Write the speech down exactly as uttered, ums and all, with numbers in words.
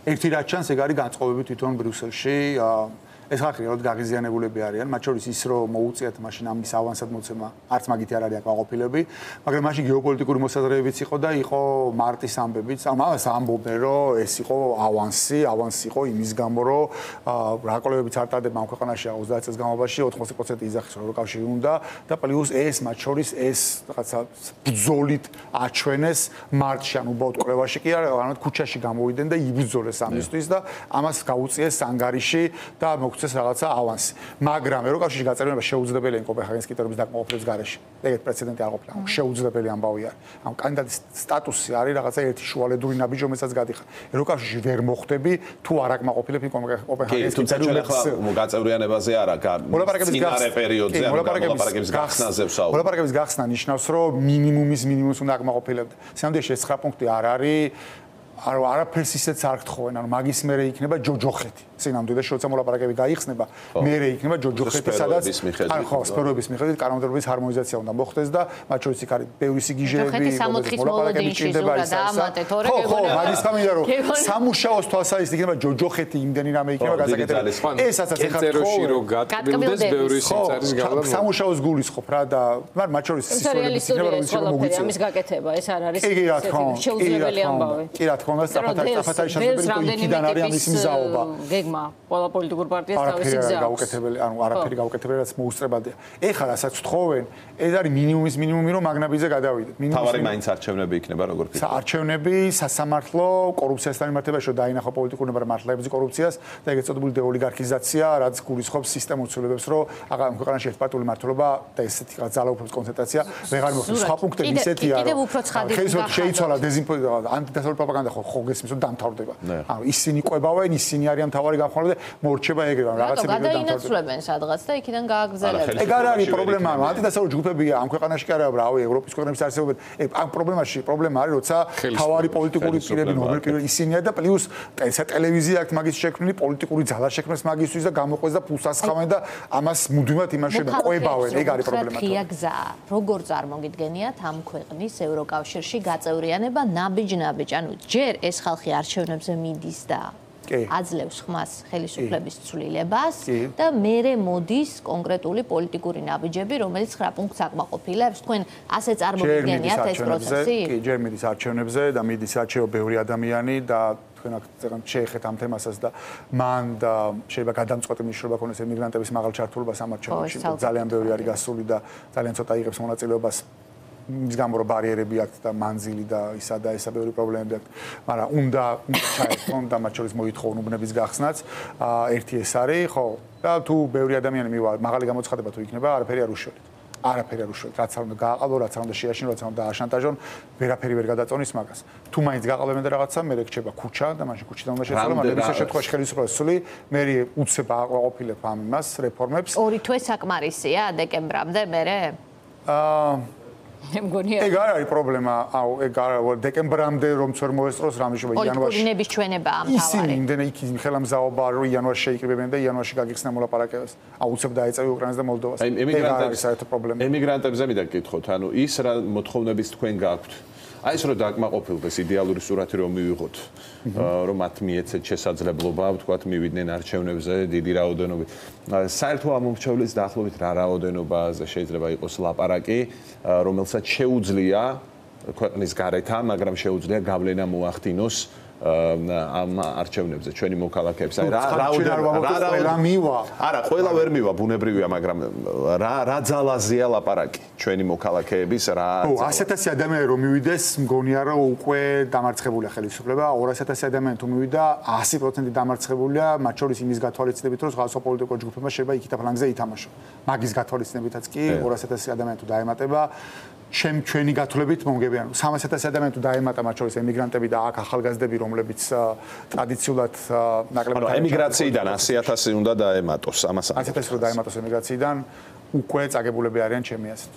ერთი რაც ჩანს, ეგ არის განწყობები თვითონ ბრიუსელში. ეს ხალხი რეალურად გაღიზიანებულები არიან, მათ შორის ის რომ მოუწიათ მაშინ ამის ავანსად მოცემა, არც მაგითი არ არის აკმაყოფილები, მაგრამ მაშინ გეოპოლიტიკური მოსაზრებებიც იყო და იყო მარტის ამბებიც. ამას ამბობდნენ, რომ ეს იყო ავანსი, ავანსი იყო იმის გამო, რომ რა კოლეგებიც არ ტარდება ამ ქვეყანაში ოცდაათ წელს განმავლობაში ოთხმოცი პროცენტი იძახის ევროკავშირი უნდა და პლუს ეს მათ შორის ეს რაღაცა ბრძოლით აჩვენეს მარტში, ან უბრალოდ კვლევაში კი არა, ანუ ქუჩაში გამოვიდნენ და იბრძოლეს ამისთვის და ამას გაუწიეს ანგარიში და წეს რაღაცა ავანსი. მაგრამ ევროკავშირში გაწევრიანება შეუძლებელია კოპენჰაგენის კრიტერიუმის დაკმაყოფილების გარეშე. ეგეთ პრეცედენტი არ ყოფილა. შეუძლებელი ამბავი არის. ამ კანდიდატის სტატუსი არის რაღაცა ერთი შუალედური ნაბიჯი, რომელსაც გადიხარ. ევროკავშირში ვერ მოხვდები თუ არ აკმაყოფილებ კოპენჰაგენის კრიტერიუმებს. გაწევრიანებაზე არა, წინარე პერიოდზე, მოლაპარაკების გახსნაზე ვსაუბრობ. მოლაპარაკების გახსნა ნიშნავს, რომ მინიმუმის მინიმუმს უნდა აკმაყოფილებდე. სამდიში ეს ცხრა პუნქტი არ არის. არ არაფერს ისეც არ გთხოვენ, ანუ მაგის მერე იქნება ჯოჯოხეთი. წინამდე და შოცა მოლაპარაკები გაიხსნება, მერე იქნება ჯოჯოხეთი, სადაც არ ხო, სფეროების მიხედვით კანონმდებლობის ჰარმონიზაცია უნდა მოხდეს და მათ შორის იქ არის ბევრი სიგიჟეები, მოლაპარაკები ჭირდება ის ასე. ხო, ხო, მაგის გამიდა რომ სამუშაოს თვალსაზრისით იქნება ჯოჯოხეთი, იმდენი რამე იქნება გასაკეთებელი. ესაც ეხლა წეროში რომ გატკბილდეს ბევრი სიმწარის გავლა. სამუშაოს გულისხმობ რა და მაგრამ მათ შორის სისწრაფეების იქნება რომ ისე მოგვიწევს. ამის გაკეთება, ეს არ არის შეუძლებელი ამბავი. კი რა თქმა უნდა, საფათარი შესაძლებელი იქიდან არის ამის მზაობა. გეგმა ყველა პოლიტიკურ პარტიას თავისი გზა. გაუკეთებელი, ანუ არაფერი გაუკეთებელი, რაც მოუსწრებადია. ეხლა რასაც თხოვენ, ეს არის მინიმუმის მინიმუმი, რომ მაგნაბიზე გადავიდეთ. თავარი მაინც არჩევნები იქნება როგორ ფიქრობთ? არჩევნები, სასამართლო, კორუფციასთან მიმართებაში რომ დაინახო პოლიტიკური მართლობების კორუფციას და ეგეც წოდებული დეოლიგარქიზაცია, რაც გულისხმობს სისტემურ ცვლილებებს, რომ აღარ ქვეყანაში ერთპარტიული მართლობა და ესეთი რაღაც ძალაუფლების კონცენტრაცია ვეღარ მოხდეს. სხვა პუნქტები ისეთია, რომ კიდევ უფრო ცხადი ხელისუფლება შეიცვალა დეზინფორმაცია, ანტიდასავლური პროპაგანდა ხო ხო გესმის რომ დამთავრდება. ანუ ისინი ყვებავენ, ისინი არიან მთავარი გამხმარებელი და მორჩება ეგრევე, რაღაცები დამთავრდება. გადაინაცვლებენ სადღაც და იქიდან გააგზავნებენ. ეგ არ არის პრობლემა, ანტიდასავლური ჯგუფებია ამ ქვეყანაში კი არა, რავი, ევროპის ქვეყნებში არსებობენ. ეგ ამ პრობლემაში პრობლემა არის, როცა მთავარი პოლიტიკური პირები, ნორმალური პირები ისინია და პლუს ტელევიზია აქვს მაგის შექმნილი, პოლიტიკური ძალა შექმნეს მაგისთვის და გამოყვეს და ფულს ასხამენ და ამას მუდმივად იმაშენ ყვებავენ. ეგ არის პრობლემა. ხია გზა. როგორ წარმოგიდგენიათ ამ ქვეყნის ევროკავშირში გაწევრიანება ნაბიჯ-ნაბიჯ, ანუ ჯერ ეს ხალხი არჩევნებზე მიდის და აძლევს ხმას ხელისუფლების ცვლილებას და მერე მოდის კონკრეტული პოლიტიკური ნაბიჯები, რომელიც ცხრა პუნქტს აკმაყოფილებს. თქვენ ასე წარმოგიდგენიათ ეს პროცესი? კი, ჯერ მიდის არჩევნებზე და მიდის არჩევა ბევრი ადამიანი და თქვენ აქ შეეხეთ ამ თემასაც და მან და შეიძლება გადამწყვეტი მნიშვნელობა ქონდეს ემიგრანტების მაღალ ჩართულობას ამ არჩევნებში. ძალიან ბევრი არის გასული და ძალიან ცოტა იღებს მონაწილეობას. ის გამო რომ ბარიერები აქვს და მანძილი და ისა და ესა ბევრი პრობლემები აქვს, მაგრამ უნდა ჩაერთონ და მათ შორის მოითხოვონ უბნების გახსნაც. ერთი ეს არის, ხო, და თუ ბევრი ადამიანი მივა, მაღალი გამოცხადება თუ იქნება, არაფერი არ უშველით. არაფერი არ უშველით. რაც არ უნდა გააყალბო, რაც არ უნდა შეაშინო, რაც არ უნდა აშანტაჟონ, ვერაფერი ვერ გადაწონის მაგას. თუ მაინც გააყალბებენ და რაღაცა, მე რჩება ქუჩა და მაშინ ქუჩიდან უნდა შეცვალო, მაგრამ ისე შემთხვევაში ხელისუფლებას სული, მე უცებ აყაყოფილებ ამ იმას, რეფორმებს. ორი თვე საკმარისია დეკემბრამდე მერე? აა ეგ არ არის პრობლემა, აუ, ეგ არ არის დეკემბრამდე რომ წერ მოესწროს რამე შეიძლება იანვარში. პოლიტიკურნების ჩვენება ამ თავარი. ისინი იმდენ იქ ხელამზაობა რომ იანვარში შეიკრიბებენ და იანვარში გაგიხსნა მოლაპარაკებებს. აუცებ დაეწევი უკრაინას და მოლდოვას. ეგ არ არის საერთო პრობლემა. ემიგრანტებზე მინდა გკითხოთ, ანუ ის რა მოთხოვნების თქვენ გაქვთ? აი ეს რომ დაკმაყოფილდეს იდეალური სურათი რომ მივიღოთ, რომ მათ მიეცეთ შესაძლებლობა, ვთქვათ, მივიდნენ არჩევნებზე დიდი რაოდენობით. საერთო ამომრჩევლის დაახლოებით რა რაოდენობაზე შეიძლება იყოს ლაპარაკი, რომელსაც შეუძლია ქვეყნის გარეთა, მაგრამ შეუძლია გავლენა მოახდინოს ამ არჩევნებზე ჩვენი მოქალაქეებს. აი რა რა მივა? არა, ყველა ვერ მივა, ბუნებრივია, მაგრამ რა რა ძალაზეა ლაპარაკი ჩვენი მოქალაქეების რა. ო, ასეთ ასი ადამიანი რომ მივიდეს, მგონია რომ უკვე დამარცხებულია ხელისუფლება, ორასი ათასი ადამიანი თუ მივიდა, ასი პროცენტი დამარცხებულია, მათ შორის იმის გათვალისწინებით, რომ სხვა პოლიტიკურ ჯგუფებმა შეიძლება იქითა ფლანგზე ითამაშო. მაგის გათვალისწინებითაც კი ორასი ათასი ადამიანი თუ დაემატება, ჩემ ჩვენი გათვლებით მომგებიან სამას ათასი ადამიანი თუ დაემატა მათ შორის ემიგრანტები და აქ ახალგაზრდები რომლებიც ტრადიციულად ნაკლებად ემიგრაციიდან ასი ათასი უნდა დაემატოს ამას ასი ათასი რომ დაემატოს ემიგრაციიდან უკვე წაგებულები არიან ჩემი აზრით